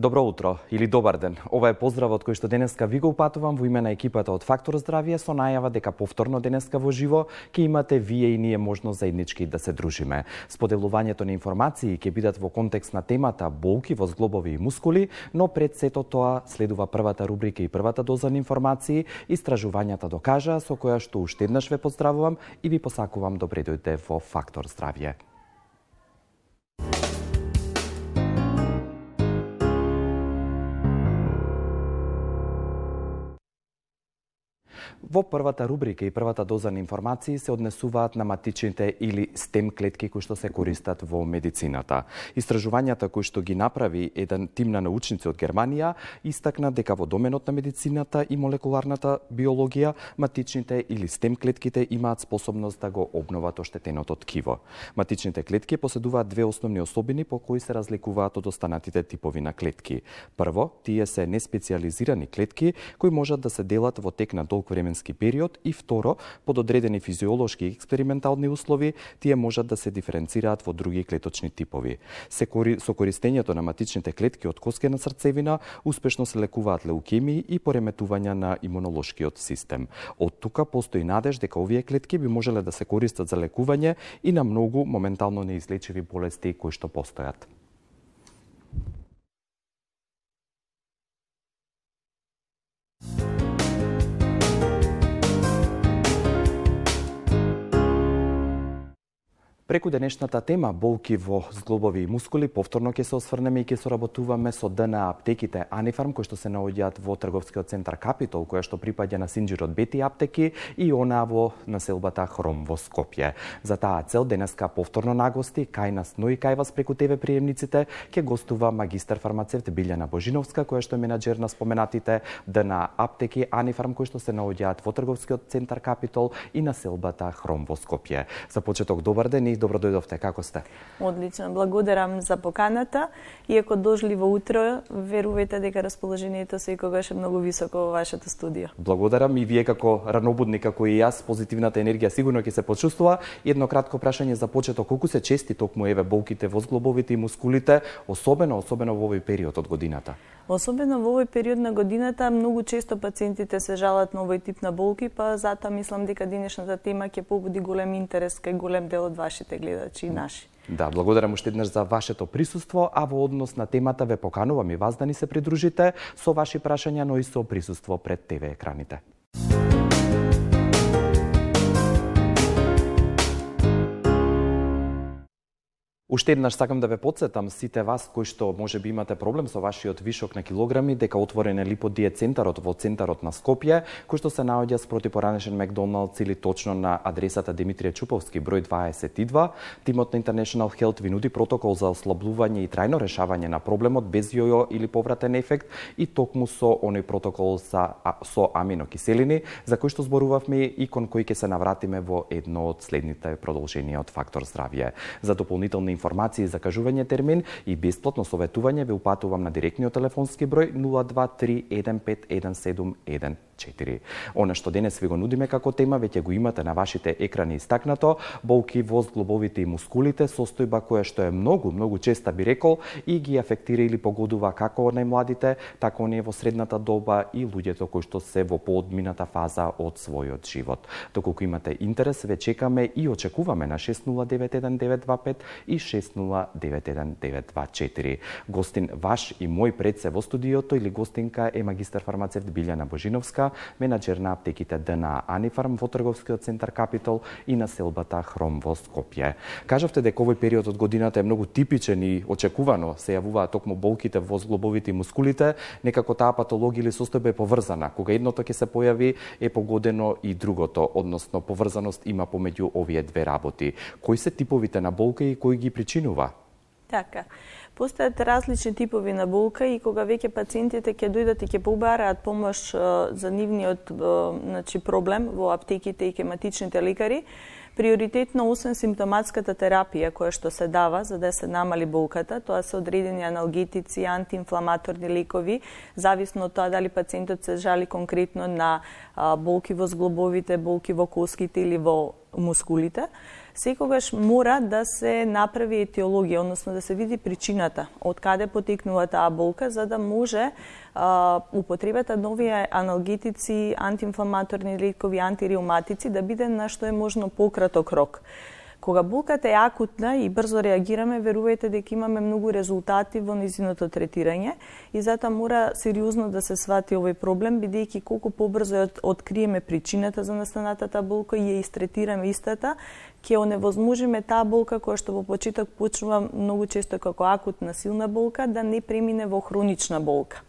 Добро утро или добар ден. Ова е поздравот кој што денеска ви го упатувам во име на екипата од Фактор Здравје со најава дека повторно денеска во живо ќе имате вие и ние можност заеднички да се дружиме. Споделувањето на информации ќе бидат во контекст на темата болки во зглобови и мускули, но пред сето тоа следува првата рубрика и првата доза на информации. Истражувањата докажаа, со која што уште еднаш ве поздравувам и ви посакувам добре дојде во Фактор Здравје. Во првата рубрика и првата доза на информации се однесуваат на матичните или стем клетки кои што се користат во медицината. Истражувањата кои што ги направи еден тим на научници од Германија истакна дека во доменот на медицината и молекуларната биологија матичните или стем клетките имаат способност да го обноват оштетеното ткиво. Матичните клетки поседуваат две основни особини по кои се разликуваат од останатите типови на клетки. Прво, тие се неспециализирани клетки кои можат да се делат во тек на долг временски период, и второ, под одредени физиолошки и експериментални услови, тие можат да се диференцираат во други клеточни типови. Со користењето на матичните клетки од коскена срцевина успешно се лекуваат леукемии и пореметувања на имунолошкиот систем. Од тука постои надеж дека овие клетки би можеле да се користат за лекување и на многу моментално неизлечиви болести кои што постојат. Преку денешната тема болки во зглобови и мускули, повторно ќе се осврнеме и ќе соработуваме со ДНА аптеките Анифарм, кои што се наоѓаат во трговскиот центар Капитол, која што припаѓа на синџирот Бети аптеки, и она во населбата Хром во Скопје. За таа цел денеска повторно нагости кај нас, но и кај вас преку ТВ приемниците ќе гостува магистар фармацевт Билјана Божиновска, која што е менаџер на споменатите ДНА аптеки Анифарм, кои што се наоѓаат во трговскиот центар Капитол и населбата Хром во Скопје. За почеток добар ден и добро дојдовте, како сте? Одлично, благодарам за поканата. Иако дошли во утро, верувајте дека расположението секогаш е многу високо во вашето студио. Благодарам, и вие како ранобудни, како и јас, позитивната енергија сигурно ќе се почувствува. Едно кратко прашање за почеток, колку се чести токму еве болките во зглобовите и мускулите, особено во овој период од годината? Особено во овој период на годината, многу често пациентите се жалат на овој тип на болки, па затоа мислам дека денешната тема ќе побуди голем интерес кај голем дел од вашите гледачи и наши. Да, благодарам уште еднаш за вашето присуство, а во однос на темата ве поканувам и вас да ни се придружите со ваши прашања, но и со присуство пред ТВ екраните. Уште еднаш сакам да ве потсетам сите вас кои што можеби имате проблем со вашиот вишок на килограми, дека отворен е липодиет центарот во центарот на Скопје, кој што се наоѓа спроти поранешен Макдоналдс или точно на адресата Димитрije Чуповски број 22. Тимот на International Health ви нуди протокол за ослабување и трајно решавање на проблемот без јојо или повратен ефект, и токму со оној протокол со аминокиселини, за кој што зборувавме и кон кој ќе се навратиме во едно од следните продолженија од Фактор Здравје. За дополнителни информации за кажување термин и бесплатно советување ве упатувам на директниот телефонски број 023151714. Она што денес ви го нудиме како тема веќе го имате на вашите екрани истакнато: болки во зглобовите и мускулите, состојба која што е многу честа, би рекол, и ги афектира или погодува како најмладите, така оние во средната доба и луѓето кои што се во поодмината фаза од својот живот. Доколку имате интерес, ве чекаме и очекуваме на 6091-925 и 6091-924. Гостин ваш и мој пред се во студиото или гостинка е магистар фармацевт Билјана Божиновска, менаџер на аптеките ДНА Анифарм во трговскиот центар Капитол и населбата Хром во Скопје. Кажавте дека овој период од годината е многу типичен и очекувано се јавуваат токму болките во зглобовите и мускулите. Некако таа патологија или состојба е поврзана. Кога едното ќе се појави, е погодено и другото, односно поврзаност има помеѓу овие две работи. Кои се типовите на болка и кои ги причинува? Така. Постојат различни типови на болка и кога веќе пациентите ќе дојдат и ќе побараат помош за нивниот проблем во аптеките и хематичните лекари, приоритетно освен симптоматската терапија која што се дава за да се намали болката, тоа се одредени аналгетици, антиинфламаторни лекови, зависно од тоа дали пациентот се жали конкретно на болки во зглобовите, болки во коските или во мускулите. секогаш мора да се направи етиологија, односно да се види причината, од каде потекнува таа болка, за да може употребата нови аналгетици, антиинфламаторни лекови, антиреуматици да биде на што е можно пократок рок. Кога болката е акутна и брзо реагираме, верувајте дека имаме многу резултати во нејзиното третирање и затоа мора сериозно да се свати овој проблем, бидејќи колку побрзо откриеме причината за настанатата болка и ја истретираме истата, ќе оневозможиме таа болка која што во почеток почнува многу често како акутна силна болка да не премине во хронична болка.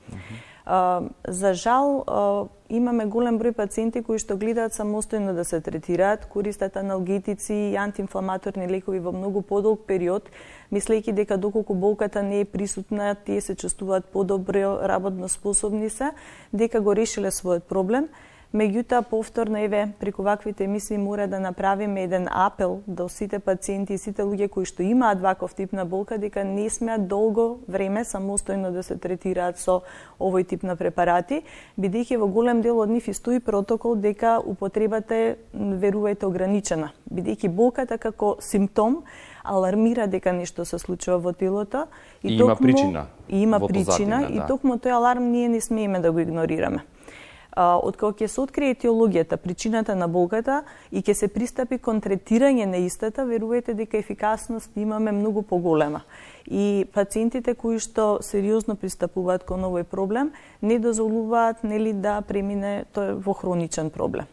За жал, имаме голем број пациенти кои што гледаат самостојно да се третираат, користат аналгетици и антиинфламаторни лекови во многу подолг период, мислејќи дека доколку болката не е присутна, тие се чувствуваат подобро, работно способни се, дека го решиле својот проблем. Меѓутоа, повторно, еве, преку ваквите емисии мора да направиме еден апел до сите пациенти и сите луѓе кои што имаат ваков тип на болка, дека не смеат долго време самостојно да се третираат со овој тип на препарати, бидејќи во голем дел од нив стои протокол дека употребата е, верувајте, ограничена, бидејќи болката како симптом алармира дека нешто се случува во телото и има причина. И токму тој аларм ние не смееме да го игнорираме. Откако ќе се открие етиологијата, причината на болката и ќе се пристапи кон третирање на истата, верувајте дека ефикасност имаме многу поголема. И пациентите кои што сериозно пристапуваат кон овој проблем не дозволуваат да премине тој во хроничен проблем.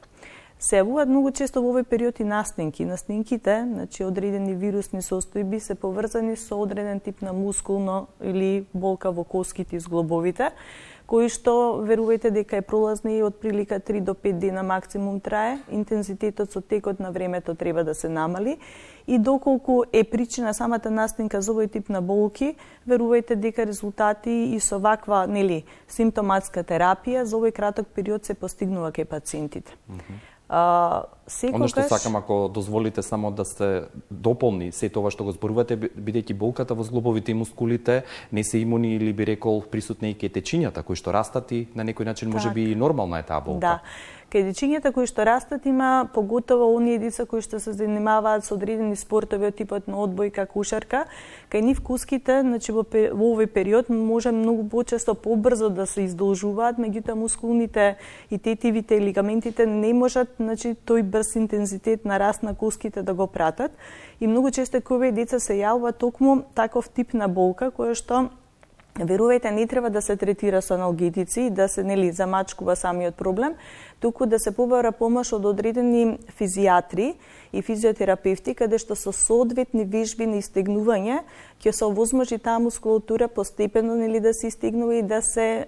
Се јавуваат многу често во овој период и настинки. Настинките, значи одредени вирусни состојби се поврзани со одреден тип на мускулно или болка во коските и зглобовите, кои што верувајте дека е пролазна и од прилика 3 до 5 дена максимум трае, интензитетот со текот на времето треба да се намали и доколку е причина самата настинка за овој тип на болки, верувајте дека резултати и со ваква, симптоматска терапија за овој краток период се постигнува кај пациентите. Оно што сакам, ако дозволите само да се дополни се тоа што го зборувате, бидејќи болката во зглобовите и мускулите не се имуни или би рекол присутни и кај течињата кои што растат и на некој начин можеби и нормална е таа болка. Да. Кај дечињата кои што растат има поготово оние деца кои што се занимаваат со одредени спортови од типот на одбојка, кушарка, кај нив куските, значи во овој период може многу почесто побрзо да се издолжуваат, меѓутоа мускулните и тетивите и лигаментите не можат, значи тој брз интензитет на раст на куските да го пратат и многу често кај овие деца се јавува токму таков тип на болка која што верувајте, не треба да се третира со аналгетици и да се замачкува самиот проблем, туку да се побара помош од одредени физијатри и физиотерапевти, каде што со соодветни вежби на истегнување ќе се овозможи таа мускулатура постепено да се истегнува и да се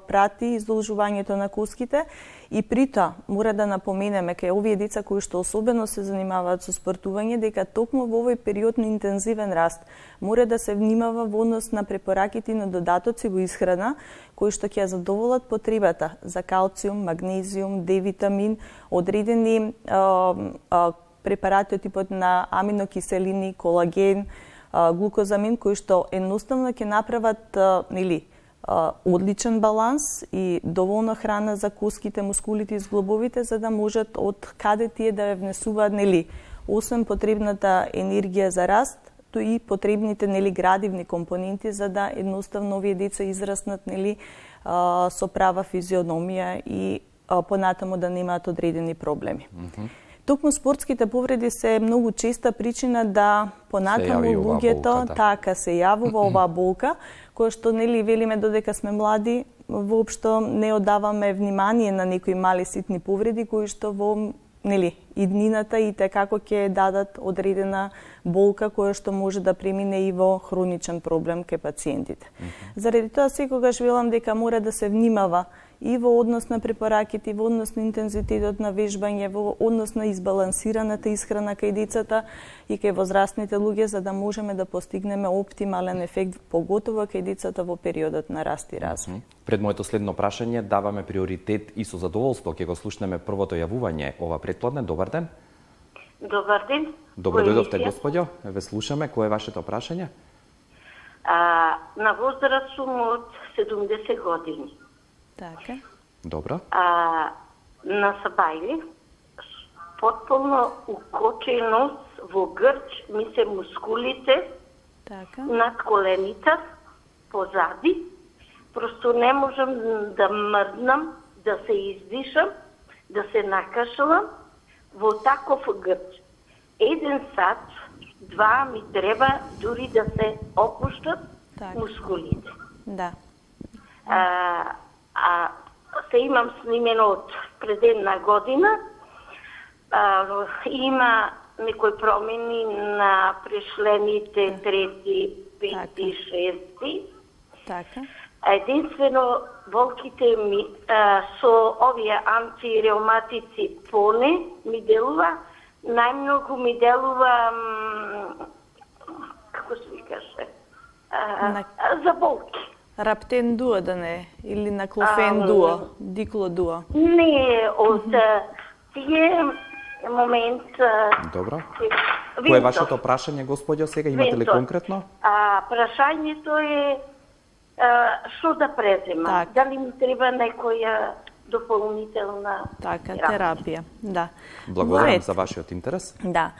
прати издолжувањето на куските. И при тоа мора да напоменеме кај овие деца кои што особено се занимаваат со спортување дека токму во овој период на интензивен раст мора да се внимава во однос на препораките на додатоци во исхрана кои што ќе задоволат потребата за калциум, магнезиум, D-витамин, одредени препарати од типот на аминокиселини, колаген, глукозамин кои што едноставно ќе направат одличен баланс и доволно храна за куските, мускулите и зглобовите за да можат од каде тие да внесуваат освен потребната енергија за раст, то и потребните градивни компоненти за да едноставно овие деца израснат со права физиономија и понатаму да немаат одредени проблеми. Токму спортските повреди се многу честа причина да понатаму луѓето така се јавува оваа болка, која што велиме додека сме млади, воопшто не одаваме внимание на некои мали ситни повреди кои што во иднината и како ќе дадат одредена болка која што може да премине и во хроничен проблем кај пациентите. Заради тоа секогаш велам дека мора да се внимава и во однос на препараките, во однос на интензитетот на вежбање, во однос на избалансираната исхрана кај децата и кај возрастните луѓе, за да можеме да постигнеме оптимален ефект, поготово кај децата во периодот на раст и развој. Пред моето следно прашање даваме приоритет и со задоволство ќе го слушнеме првото јавување ова претпладне. Добар ден. Добар ден. Добро дојдовте, господјо. Ве слушаме. Кое е вашето прашање? На возраст сум од 70 години. Така. Добро. На Сабајли, потполно укоченост во грч ми се мускулите над колените, позади. Просто не можам да мрднам, да се издишам, да се накашлам во таков грч. 1 сат, 2 ми треба дури да се опуштат мускулите. Да. Се имам снимено од пред една година. Има некои промени на прешлените 3, 5, 6. Така. Единствено болките ми со овие антиреуматици поне ми делува, најмногу ми делува како се ви каже, за болки. Раптен дуо да не или на клофен дуо, дикло дуо. Не, од тие момент... Добро. Кој е вашето прашање, господјо, сега имате ли конкретно? Прашањето е што да преземам? Дали ми треба некоја дополнителна терапија? Да. Благодарам за вашиот интерес. Да.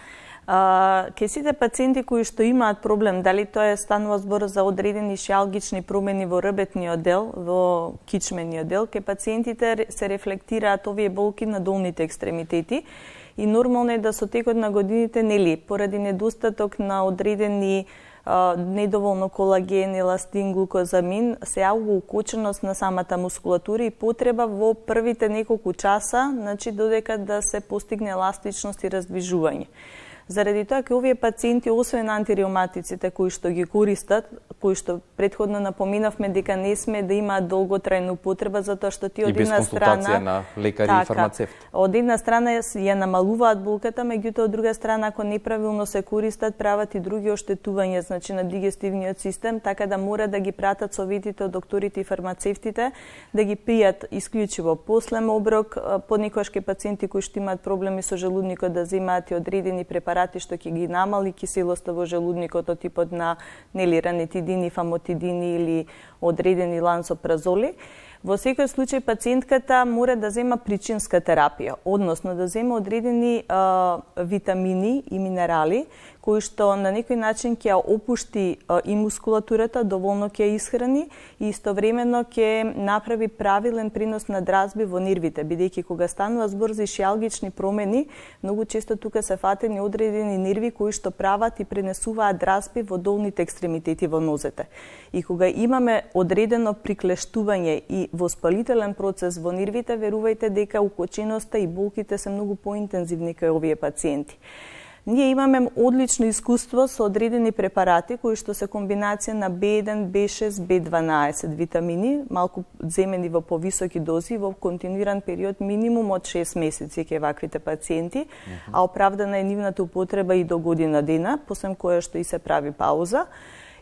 Ке сите пациенти кои што имаат проблем, дали тоа станува збор за одредени шијалгични промени во ребетниот дел, во кичмениот дел, ке пациентите се рефлектираат овие болки на долните екстремитети и нормално е да со текот на годините, нели, поради недостаток на одредени недоволно колаген, еластин, глукозамин, се јавува укоченост на самата мускулатура и потреба во првите неколку часа, значи додека да се постигне еластичност и раздвижување. Заради тоа ке овие пациенти, освен антиреуматиците кои што ги користат, кои што претходно напоминавме дека не сме да имаат долготрајна употреба, затоа што ти од една страна... И без консултација на лекари и фармацевт. Од една страна ја намалуваат болката, меѓутоа од друга страна, ако неправилно се користат, прават и други оштетувања, значи на дигестивниот систем, така да мора да ги пратат советите од докторите и фармацевтите, да ги пијат исклучиво после оброк, понекогаш ке пациенти кои што имаат проблеми со желудникот да земаат и одредени препарати што ќе ги намали киселоста во желудникот од типот на ранетидини, фамотидини или одредени лансопразоли. Во секој случај пациентката мора да зема причинска терапија, односно да зема одредени витамини и минерали кои што на некој начин ќе ја опушти и мускулатурата, доволно ќе ја исхрани и истовремено ќе направи правилен принос на дразби во нервите, бидејќи кога станува збор за шијалгични промени, многу често тука се фатени одредени нерви кои што прават и пренесуваат дразби во долните екстремитети во нозете. И кога имаме одредено приклештување и воспалителен процес во нервите, верувајте дека укоченоста и болките се многу поинтензивни кај овие пациенти. Ние имаме одлично искуство со одредени препарати кои што се комбинација на B1, B6, B12 витамини, малку земени во повисоки дози во континуиран период минимум од 6 месеци кај ваквите пациенти, а оправдана е нивната употреба и до година дена, посем која што и се прави пауза.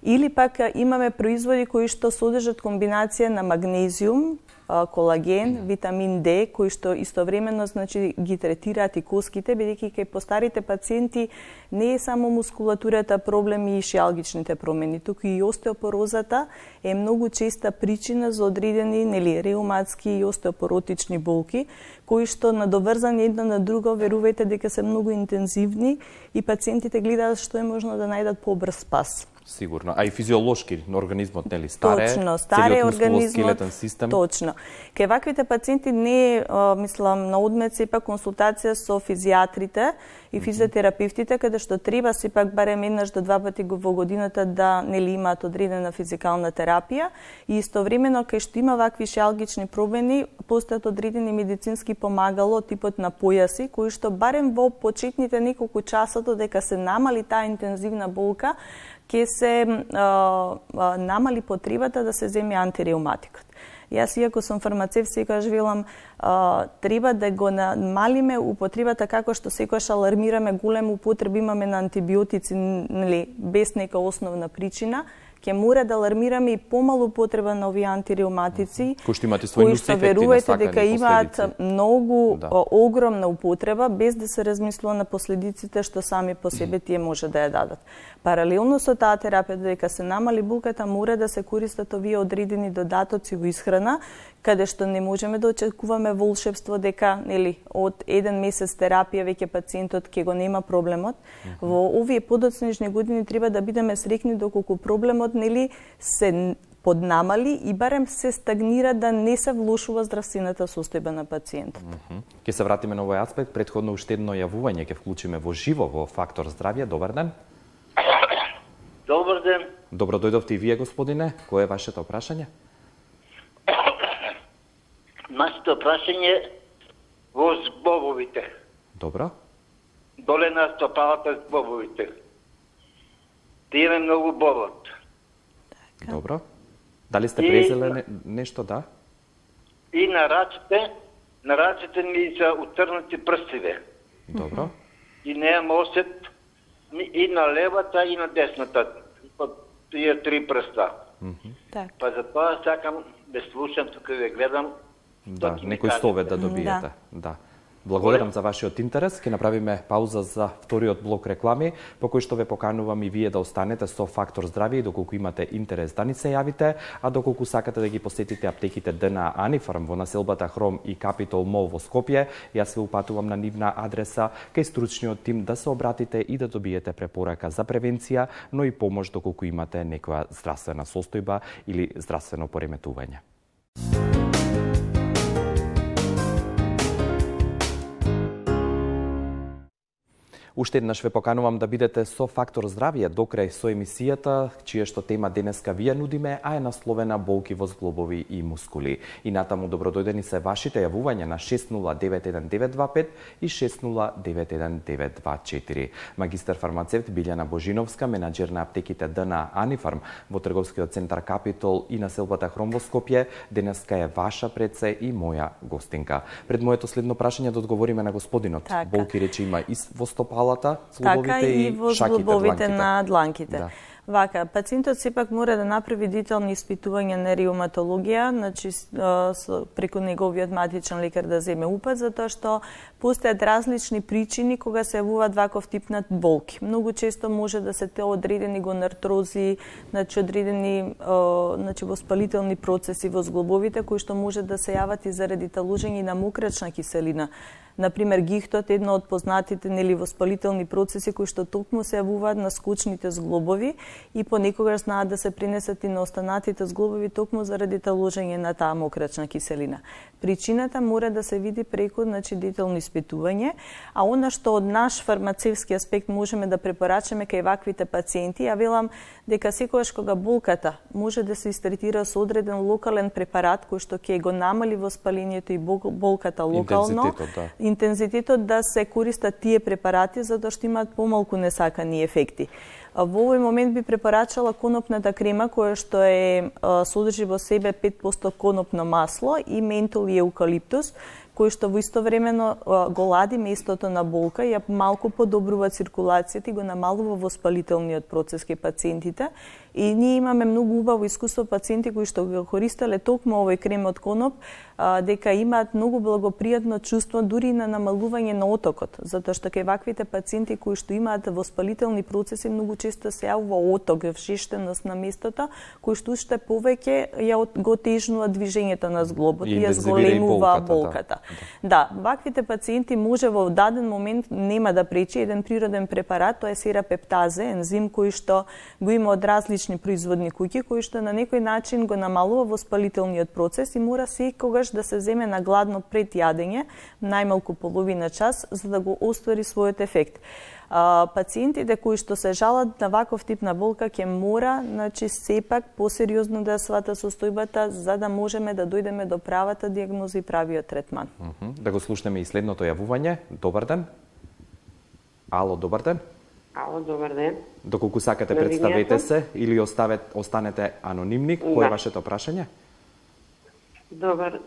Или пак имаме производи кои што содржат комбинација на магнезиум, колаген, витамин D, кои што истовремено значи ги третираат и коските, бидејќи кај постарите пациенти не е само мускулатурата проблеми и шијалгичните промени, туку и остеопорозата е многу честа причина за одредени реуматски и остеопоротични болки, кои што надоврзани едно на друго, верувајте дека се многу интензивни и пациентите гледаат што е можно да најдат побрз спас. Сигурно, а и физиолошки на организмот, нели, старе, старе организмот, систем. Точно. Кај ваквите пациенти не е, мислам, на одмет сепак консултација со физијатрите и физиотерапевтите, каде што треба сепак барем еднаш до 2 пати во годината да нели имаат одредена физикална терапија и истовремено кај што има вакви шијалгични промени, постојат одредени медицински помагало типот на појаси, кои што барем во почетните неколку часа додека се намали таа интензивна болка, ќе се намали потребата да се земе антиреуматикот. Јас, иако сум фармацевт, секогаш велам, треба да го намалиме употребата како што секогаш алармираме голема употреба имаме на антибиотици, нели, без нека основна причина, ќе мора да алармираме и помалу потреба на овие антиреуматици, кои што имате своји нуси ефекти, верувајте дека имаат многу огромна употреба, без да се размислува на последиците што сами по себе тие може да ја дадат. Паралелно со таа терапија, дека се намали булката, мора да се користат овие одредени додатоци во исхрана, каде што не можеме да очекуваме волшебство дека од 1 месец терапија веќе пациентот ќе го нема проблемот. Во овие подоцнежни години треба да бидеме среќни доколку проблемот се поднамали и барем се стагнира, да не се влошува здравствената состојба на пациентот. Ќе се вратиме на овој аспект. Претходно уште едно јавување ќе вклучиме во живо во Фактор здравје. Добар ден. Добар ден. Добро дојдовте и вие, господине. Кое е вашето прашање? Нашето прашање во збобовите. Добро. Доле на стопалата збобовите. Тие ме многу болат. Добро. Дали сте презеле нешто, да? И на раците ми се утрнати прстиве. Добро. И немам осет и на левата и на десната. Тие 3 прста. Па затоа сакам да слушам, тука да гледам. Да, некој совет да добиете. Да. Благодарам за вашиот интерес. Ќе направиме пауза за вториот блок реклами, по кој што ве поканувам и вие да останете со Фактор здравје и доколку имате интерес да ни се јавите, а доколку сакате да ги посетите аптеките ДНА Анифарм во населбата Хром и Капитол Мол во Скопје, јас ве упатувам на нивна адреса кај стручниот тим да се обратите и да добиете препорака за превенција, но и помош доколку имате некоја здравствена состојба или здравствено пореметување. Уште еднаш ве поканувам да бидете со Фактор здравје до крај со емисијата, чија што тема денеска вие нудиме, а е насловена болки во зглобови и мускули. И натаму добродојдени се вашите јавувања на 6091-925 и 6091-924. Магистар фармацевт Билјана Божиновска, менаџер на аптеките ДНА Анифарм во трговскиот центар Капитол и населбата Хром во Скопје, денеска е ваша пред се и моја гостинка. Пред моето следно прашање да одговориме на господинот. Болки рече има и во стопалата, зглобовите и во зглобовите на дланките. Да. Вака, пациентот сепак мора да направи детални испитувања на реуматологија, значи преку неговиот матичен лекар да земе упат, затоа што постојат различни причини кога се јавуваат ваков тип на болки. Многу често може да се те одредени гонартрози, значи одредени воспалителни процеси во зглобовите кои што може да се јават и заради талужење на мokraчна киселина. Например, гихтот е едно од познатите воспалителни процеси кои што токму се јавуваат на скучните зглобови и понекогаш знаат да се пренесат и на останатите зглобови токму заради таложење на таа мokraчна киселина. Причината мора да се види преку детално испитување, а она што од наш фармацевски аспект можеме да препорачаме кај ваквите пациенти, ја велам дека секогаш кога болката може да се истретира со одреден локален препарат кој што ќе го намали воспалението и болката локално, интензитетот да се користат тие препарати затоа што имаат помалку несакани ефекти. Во овој момент би препорачала конопната крема која што содржи во себе 5% конопно масло и ментол и еукалиптус, кој што во истовремено го лади местото на болка и ја малку подобрува циркулацијата и го намалува воспалителниот процес кај пациентите. И ние имаме многу убаво искуство пациенти кои што го користеле токму овој крем од коноп, дека имаат многу благопријатно чувство дури на намалување на отокот, затоа што кај ваквите пациенти кои што имаат воспалителни процеси многу често се јавува оток, вшештеност на местото, кој што уште повеќе ја го тежнува движењето на зглобот и ја зголемува болката. Да, ваквите пациенти може во даден момент нема да пречи еден природен препарат, тоа е серапептазе, ензим кој што го има од различни производни куќи, кој што на некој начин го намалува воспалителниот процес и мора секогаш да се земе на гладно пред јадење, најмалку половина час, за да го оствари својот ефект. Пациентите кои што се жалат на ваков тип на болка ќе мора, сепак посериозно да свата состојбата за да можеме да дојдеме до правата дијагноза и правиот третман. Да го слушнеме и следното јавување. Добар ден. Ало, добар ден. Ало, добар ден. Доколку сакате, представете се или останете анонимни. Кој е вашето прашање? Добар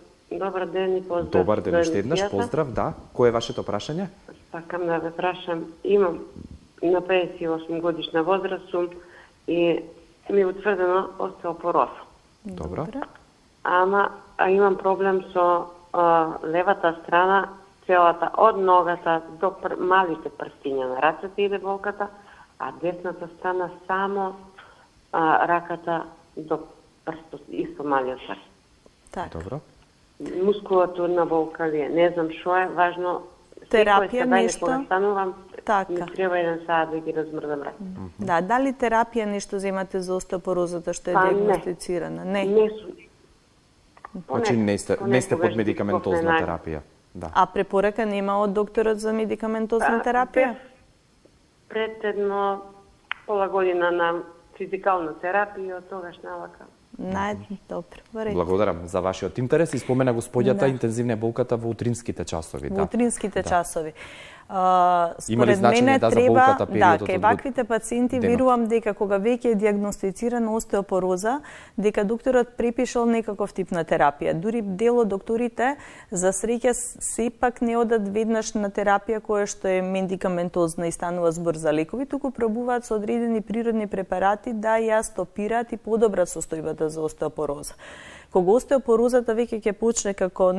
ден и поздрав. Добар ден, уште еднаш, поздрав, да. Кој е вашето прашање? Сакам да ве прашам, имам на 58 годишна возраст сум и ми е утврдено остеопороза. Добро. Ама имам проблем со левата страна, целата од ногата до малите прстиња на рацете иде болката, а десната страна само раката до прстот, исто малиот прст. Так. Добро. Мускулатурна болка ли е, не знам што е, важно терапија нешто. Кога станувам, така. ми треба 1 саат да ги размрдам рака. Да, дали терапија нешто земате за остеопорозата што е диагностицирана? Не. Значи не сте под медикаментозна терапија. Да. А препорака нема од докторот за медикаментозна терапија? Пред едно пола година на физикална терапија, од тогаш навака. Добро, во ред. Благодарам за вашиот интерес и спомена господјата интензивна болката во утринските часови. Во утринските часови. Има ли значење за болката периодот? Да, кај ваквите пациенти верувам дека кога веќе е диагностицирана остеопороза, дека докторот препишал некаков тип на терапија. Дури дел од докторите за среќа сепак не одат веднаш на терапија која што е медикаментозна и станува збор за лекови, туку пробуваат со одредени природни препарати да ја стопираат и подобрат состојбата за остеопороза. Кога остеопорозата веќе ќе почне како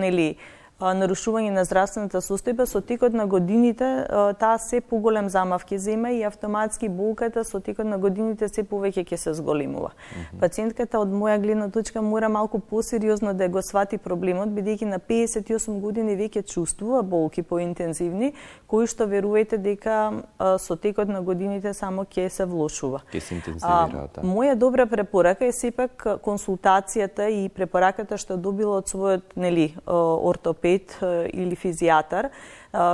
нарушување на здравствената состојба, со текот на годините таа се поголем замав ќе зема и автоматски болката со текот на годините се повеќе ќе се зголемува. Пациентката од моја гледна точка мора малку посериозно да го свати проблемот, бидејќи на 58 години веќе чувствува болки поинтензивни, кои што верувајте дека со текот на годините само ќе се влошува. Ќе се интензивираат. Моја добра препорака е сепак консултацијата и препораката што добила од својот ортопед или физијатар.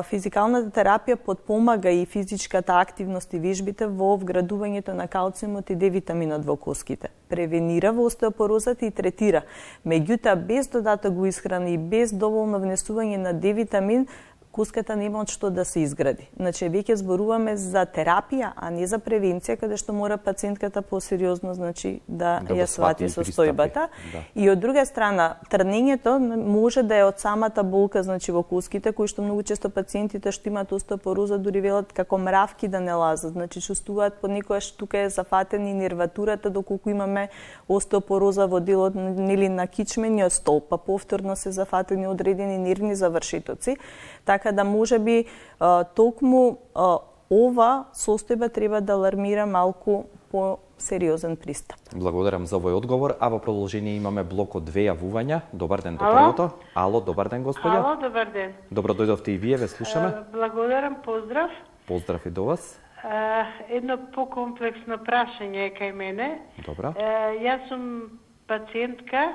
Физикалната терапија потпомага и физичката активност и вежбите во вградувањето на калциумот и D-витаминот во коските. Превенира во остеопорозата и третира. Меѓутоа, без додаток во исхрана и без доволно внесување на D-витамин, коската нема од што да се изгради. Значи, веќе зборуваме за терапија, а не за превенција, каде што мора пациентката посериозно да ја свати состојбата. И од друга страна, трнењето може да е од самата болка, значи во коските, кои што многу често пациентите што имаат остеопороза дури велат како мравки да не лазат, значи чувствуваат понекогаш тука е зафатена и нерватурата, доколку имаме остеопороза во делот на кичмениот столб, па повторно се зафатени одредени нервни завршетоци. Така да можеби токму ова состојба треба да алармира малку по сериозен пристап. Благодарам за овој одговор, а во продолжение имаме блок од 2 јавувања. Добар ден до првото. Ало, добар ден господја. Ало, добар ден. Добро дојдовте и вие, ве слушаме. Благодарам, поздрав. Поздрав и до вас. Едно покомплексно прашање е кај мене. Добро. Јас сум пациентка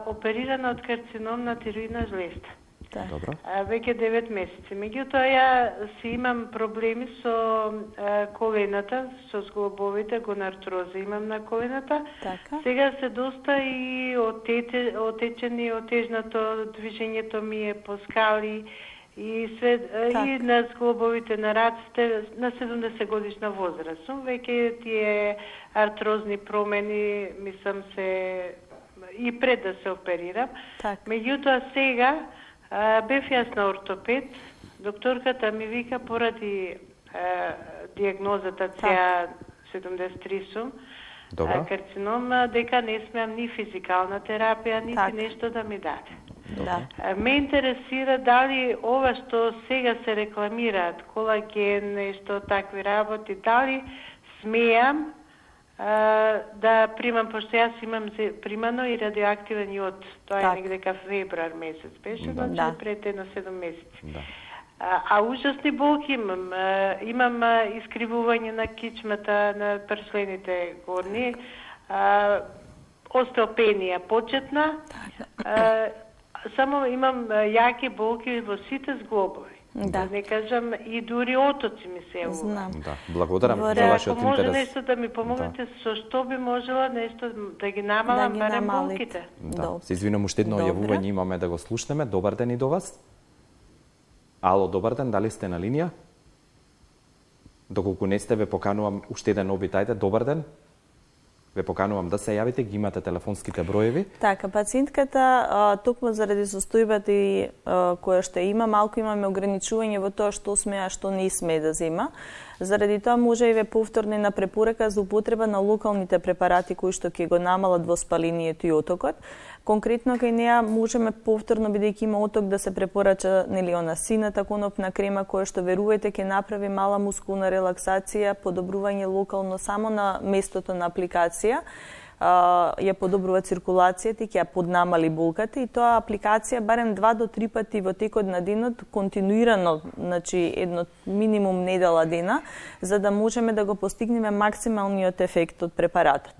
оперирана од карцином на тироидна жлезда. Добро. Веќе 9 месеци. Меѓутоа, ја си имам проблеми со колената, со зглобовите, гонартроза имам на колената. Така. Сега се доста и отечени, отежнато, движењето ми е по скали и све, и на зглобовите на раците, на 70 годишна возраст сум. Веќе тие артрозни промени, мислам се, и пред да се оперирам. Меѓутоа, сега бев јас на ортопед, докторката ми вика поради диагнозата CA73 сум, карцином, дека не смеам ни физикална терапија, нити нешто да ми даде. Ме интересира дали ова што сега се рекламираат, колаген, нешто такви работи, дали смеам да примам, пошто јас имам примано и радиоактивен јод. Тоа е негде февруар месец беше, значи пред едно 7 месеци. А ужасни болки имам. Имам искривување на кичмата, на пршлените горни, остеопенија почетна, само имам јаки болки во сите зглобови. Да не кажам и дури отоци ми се јавува. Знам. Да, благодарам за вашиот интерес. Ако може нешто да ми помогнете, со што би можела нешто да ги намалам барем болките? Да, се извинувам, уште едно јавување имаме да го слушнеме. Добар ден и до вас. Ало, добар ден, дали сте на линија? Доколку не сте, ве поканувам уште еден обитајте. Добар ден. Ве поканувам да се јавите, ги имате телефонските броеви. Така, пациентката, токму заради состојбата и која што има, малку имаме ограничување во тоа што смее, а што не смее да зема. Заради тоа може и ве повторна препорака за употреба на локалните препарати кои што ќе го намалат воспалението и отокот. Конкретно кај неа можеме повторно, бидејќи има оток, да се препорача она сината конопна крема која што верувајте ќе направи мала мускулна релаксација, подобрување локално само на местото на апликација, ја подобрува циркулацијата и ќе ја поднамали болката, и тоа апликација барем 2 до 3 пати во текот на денот, континуирано, значи едно минимум недела дена, за да можеме да го постигнеме максималниот ефект од препаратот.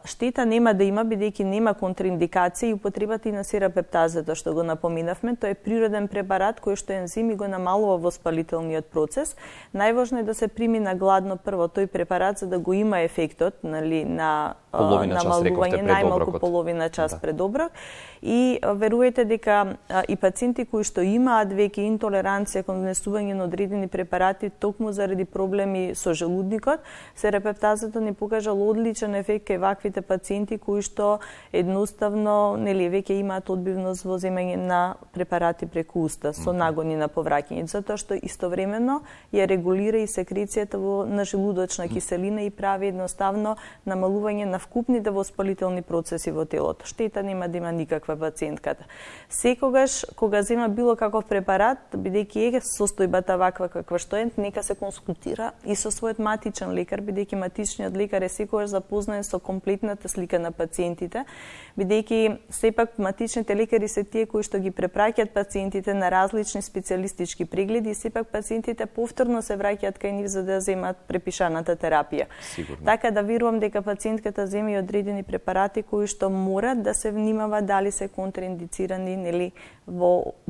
Штета нема да има, бидејќи нема контраиндикација и употребата и на серапептазата, што го напоминавме, тоа е природен препарат кој што ензими го намалува воспалителниот процес. Најважно е да се прими на гладно прво тој препарат за да го има ефектот, нели, на намалување најмалку половина час пред оброк. И верувајте дека и пациенти кои што имаат веќе интолеранција кон внесување на одредени препарати токму заради проблеми со желудникот, серапептазата ни покажал одличен ефект кај ваквите пациенти кои што едноставно нели веќе имаат одбивност во земање на препарати преку уста со нагони на повраќање, затоа што истовремено ја регулира и секрецијата на желудочна киселина и прави едноставно намалување на вкупните воспалителни процеси во телото. Штета нема да има никаква пациентката. Секогаш кога зема било каков препарат, бидејќи е состојбата ваква каква што е, нека се консултира и со својот матичен лекар, бидејќи матичниот лекар е секогаш запознаен со комплетната слика на пациентите, бидејќи сепак матичните лекари се тие кои што ги препраќаат пациентите на различни специјалистички прегледи и сепак пациентите повторно се враќаат кај нив за да земат препишаната терапија. Сигурно. Така да верувам дека пациентката зема и одредени препарати кои што морат да се внимава дали се контраиндицирани, нели,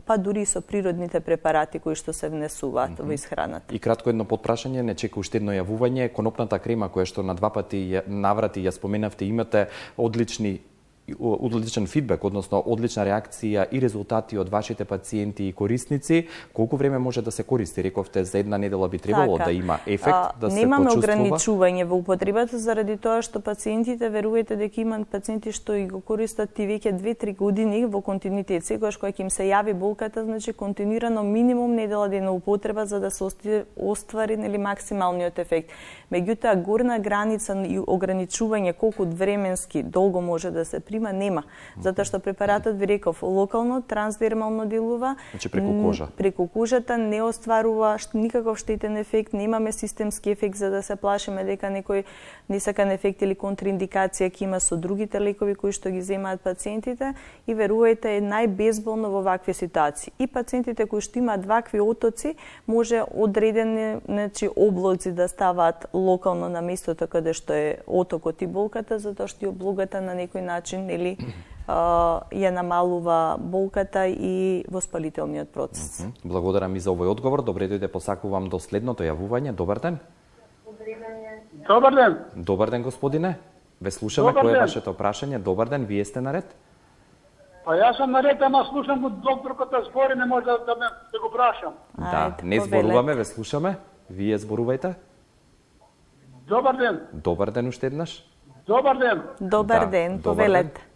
па дури со природните препарати кои што се внесуваат во исхраната. И кратко едно потпрашање, не чека уште едно јавување, конопната крема која што на 2 пати наврати ја споменавте, имате одличен фидбек, односно одлична реакција и резултати од вашите пациенти и корисници. Колку време може да се користи? Рековте за една недела би требало да има ефект, да се почувствува? Немаме ограничување во употребата заради тоа што пациентите, верувајте дека имаат пациенти што и го користат и веќе 2-3 години во континуитет. Секогаш кога ќе им се јави болката, значи континуирано минимум недела дена употреба за да се оствари нели максималниот ефект. Меѓутоа горна граница и ограничување колку временски долго може да се прима нема, затоа што препаратот ви реков локално, трансдермално делува, значи преку кожа. Преку кожата не остварува никаков штетен ефект, немаме системски ефект за да се плашиме дека некој несакан ефект или контраиндикација ќе има со другите лекови кои што ги земаат пациентите и верувајте е најбезболно во вакви ситуации. И пациентите кои што имаат вакви отоци може одредени облоци да ставаат локално на местото каде што е отокот и болката, затоа што и облогата на некој начин или ја намалува болката и воспалителниот процес. Благодарам и за овој одговор. Добре дојде, посакувам до следното јавување. Добар ден. Добар ден. Добар ден, господине. Ве слушаме, кој е вашето прашање? Добар ден, вие сте наред? Па јас сум наред, ама слушам го докторката збори, не може да го прашам. Да, не зборуваме, ве слушаме. Вие зборувајте. Добар ден. Добар ден уште еднаш. Добар ден. Добар ден, повелете.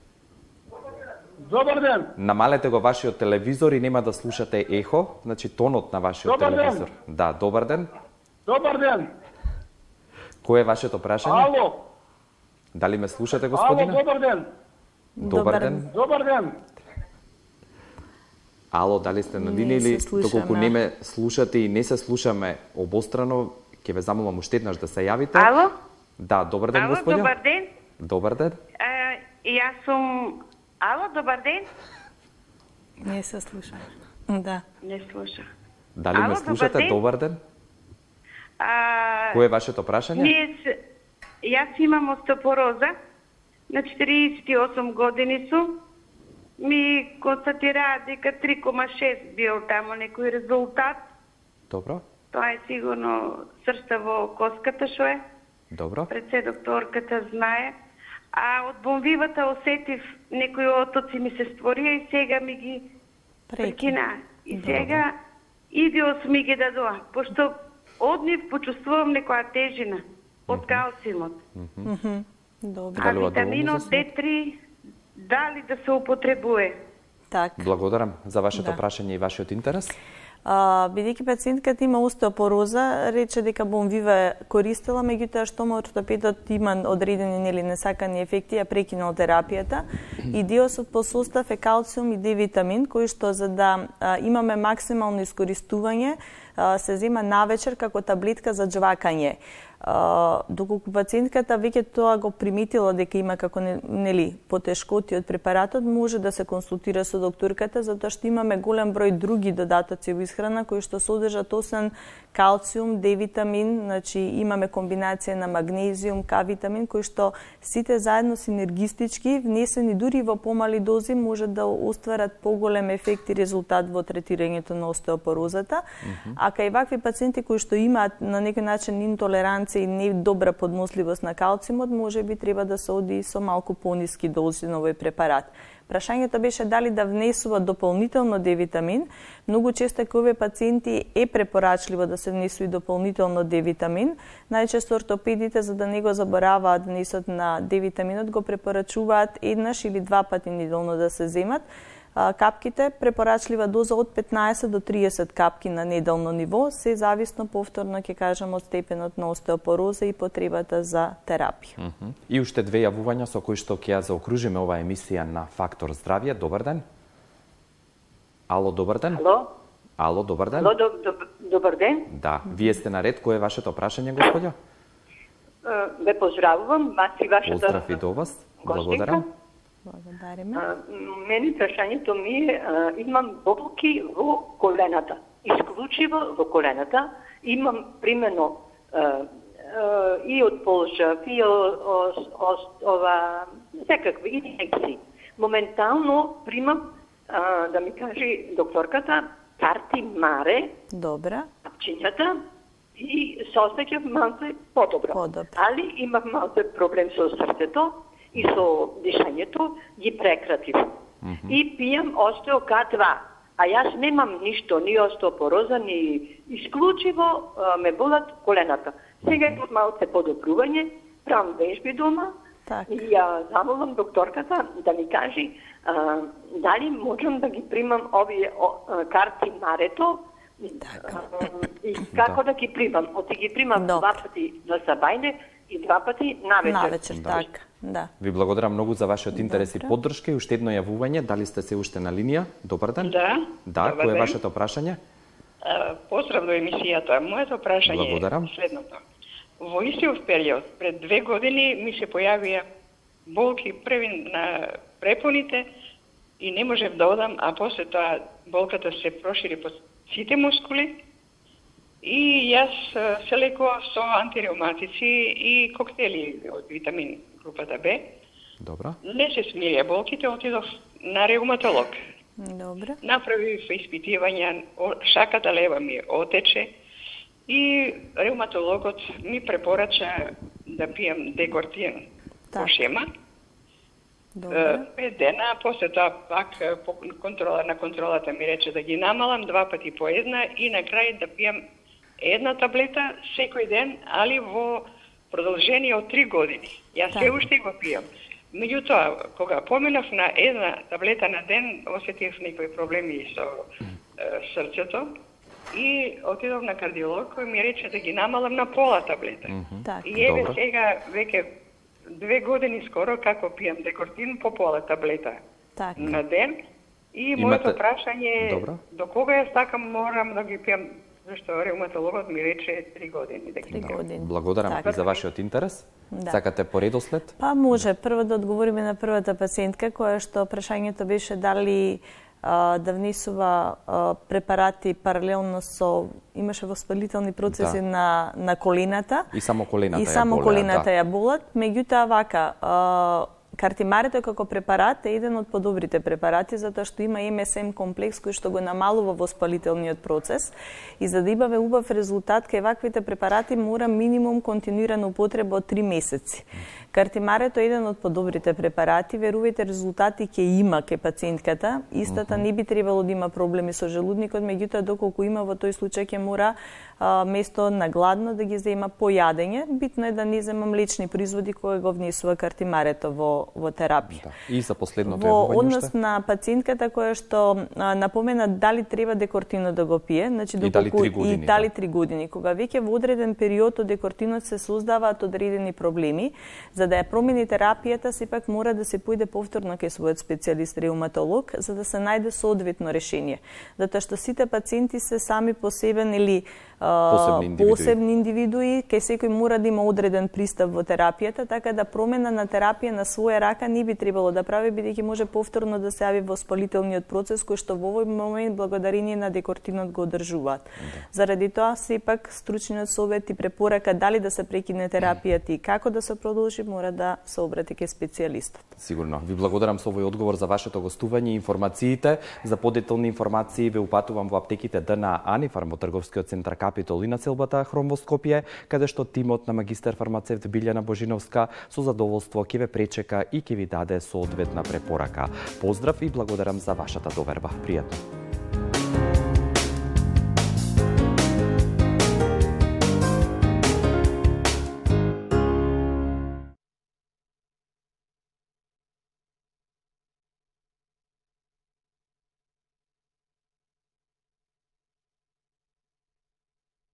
Добар ден. Намалете го вашиот телевизор и нема да слушате ехо, значи тонот на вашиот телевизор. Да, добар ден. Добар ден. Кој е вашето прашање? Ало. Дали ме слушате, господине? Ало, добар ден. Добар ден. Добар ден. Ало, дали сте на линија или доколку не ме слушате и не се слушаме обострано, ќе ве замолам уште еднаш да се јавите. Ало? Да, добар ден, господине. Добар ден. Добар ден. Јас сум... Ало, добар ден. Не се слушам. Да. Не слушам. Дали ме слушате? Добар ден. Кој е вашето прашање? Јас имам остеопороза. На 48 години сум. Ми констатираа дека 3,6 бил тамо некој резултат. Добро. Тоа е сигурно сршта во коската што е. Добро. Пред се докторката знае. А од бомбивата осетив некои отоци ми се створија и сега ми ги прекина. И сега идиос ми ги дадоа. Пошто од нив почувствувам некоја тежина од калциумот. А витаминот D3 дали да се употребува? Так. Благодарам за вашето прашање и вашиот интерес. Бидејќи пациентката има остеопороза, рече дека бонвива користела, меѓутоа што ортопедот има одредени несакани ефекти, ја прекинал терапијата. И диосот по состав е калциум и Д витамин, кој што за да имаме максимално искористување, се зема навечер како таблетка за џвакање. Доколку пациентката веќе тоа го приметила дека има како потешкоти од препаратот, може да се консултира со докторката, затоа што имаме голем број други додатоци во исхрана кои што содржат освен калциум, Д витамин, значи имаме комбинација на магнезиум, К витамин, кои што сите заедно синергистички, внесени дури во помали дози, може да остварат поголем ефект и резултат во третирањето на остеопорозата. А кај вакви пациенти кои што имаат на некој начин интолеранција и не добра подносливост на калциумот, може би треба да се оди со малку пониски дози на овој препарат. Прашањето беше дали да внесува дополнително Д витамин. Многу често кај овие пациенти е препорачливо да се внесува и дополнително Д витамин. Најчесто ортопедите, за да не го забораваат внесот на Д витаминот, го препорачуваат еднаш или два пати неделно да се земат. Капките, препорачлива доза од 15 до 30 капки на неделно ниво, се зависно повторно ќе кажам од степенот на остеопороза и потребата за терапија. И уште две јавувања со кои што ќе ја заокружиме оваа емисија на Фактор здравје. Добар ден. Ало, добар ден. Ало, добар ден. Добар ден. Да, вие сте на ред. Кој е вашето прашање, господја? Ве поздравувам, вас и вашата Поздрав и до вас. Благодарам. Благодариме. Мене прашањето ми е, имам болки во колената, исклучиво во колената. Имам примерно и од полжав, и секакви инфекции. Моментално примам, да ми кажи докторката, карти маре, капчињата, и се осеќав малце подобро. Али имав малце проблем со срцето и со дишањето, ги прекратив. И пијам остео К2. А јас немам ништо, ни остеопороза, ни исклучиво ме болат колената. Сега имам малце подобрување, правам вежби дома и ја замолам докторката да ми кажи дали можам да ги примам овие карти марето и како да ги примам. Оти ги примам два пати на сабајне и два пати навечер. Така. Да. Ви благодарам многу за вашиот интерес и поддршка и уште едно јавување. Дали сте се уште на линија? Добар ден. Да, кој е вашето прашање? Поздрав до емисијата. Моето прашање е следното. Во истиот период, пред 2 години, ми се појавија болки први на препоните и не можев да одам, а после тоа болката се прошири по сите мускули и јас се лекував со антиреуматици и коктели од витамин групата Б. Добро. Не се смирија болките, отидов на реуматолог. Добро. Направив испитивања, шаката лева ми отече и реуматологот ми препорача да пијам декортиен по шема. 5 дена, после тоа пак на контролата ми рече да ги намалам 2 пати по една и на крај да пијам една таблета секој ден, али во продолжение од 3 години. Јас се уште го пијам. Меѓутоа, кога поминав на една таблета на ден, осетив некои проблеми со срцето и отидов на кардиолог кој ми рече да ги намалам на пола таблета. И еве сега веќе 2 години скоро како пијам декортин по пола таблета на ден. И моето прашање е до кога јас така морам да ги пијам, зашто реуматологот ми рече 3 години. 3 години. Благодарам за вашиот интерес. Сакате по редослед? Па може. Прво да одговориме на првата пациентка, која што прашањето беше дали да внесува препарати паралелно со имаше воспалителни процеси на колената. И само колената и само колената ја болат. Меѓутоа вака, картимарето како препарат е еден од подобрите препарати затоа што има МСМ комплекс кој што го намалува воспалителниот процес и за да имаме убав резултат кај ваквите препарати мора минимум континуирана употреба од 3 месеци. Картимарето е еден од подобрите препарати, верувајте, резултати ќе има ке пациентката. Истата не би требало да има проблеми со желудникот, меѓутоа доколку има во тој случај ќе мора место на гладно да ги зема по јадење. Битно е да не зема млечни производи кои го внесува картимарето во терапија. И за последното во однос на пациентката која што напомена дали треба декортино да го пие, значи доколку и дали 3 години, кога веќе во одреден период од декортинот се создаваат одредени проблеми, за да ја промени терапијата, сепак мора да се поиде повторно кај својот специјалист реуматолог за да се најде соодветно решение. Затоа што сите пациенти се сами по себе или посебни индивидуи, кај секој мора да има одреден пристап во терапијата, така да промена на терапија на своја рака не би требало да прави, бидејќи може повторно да се јави воспалителниот процес кој што во овој момент благодарение на декортинот го одржуваат. Заради тоа сепак стручниот совет и препорака дали да се прекине терапијата и како да се продолжи, мора да се обрати кај специјалистот. Сигурно. Ви благодарам со овој одговор за вашето гостување и информациите. За подетални информации ве упатувам во аптеките ДНА Анифарм во трговскиот центар Капитол и на целбата Хром во Скопје, каде што тимот на магистер фармацевт Билјана Божиновска со задоволство ќе ве пречека и ќе ви даде соодветна препорака. Поздрав и благодарам за вашата доверба. Пријатно.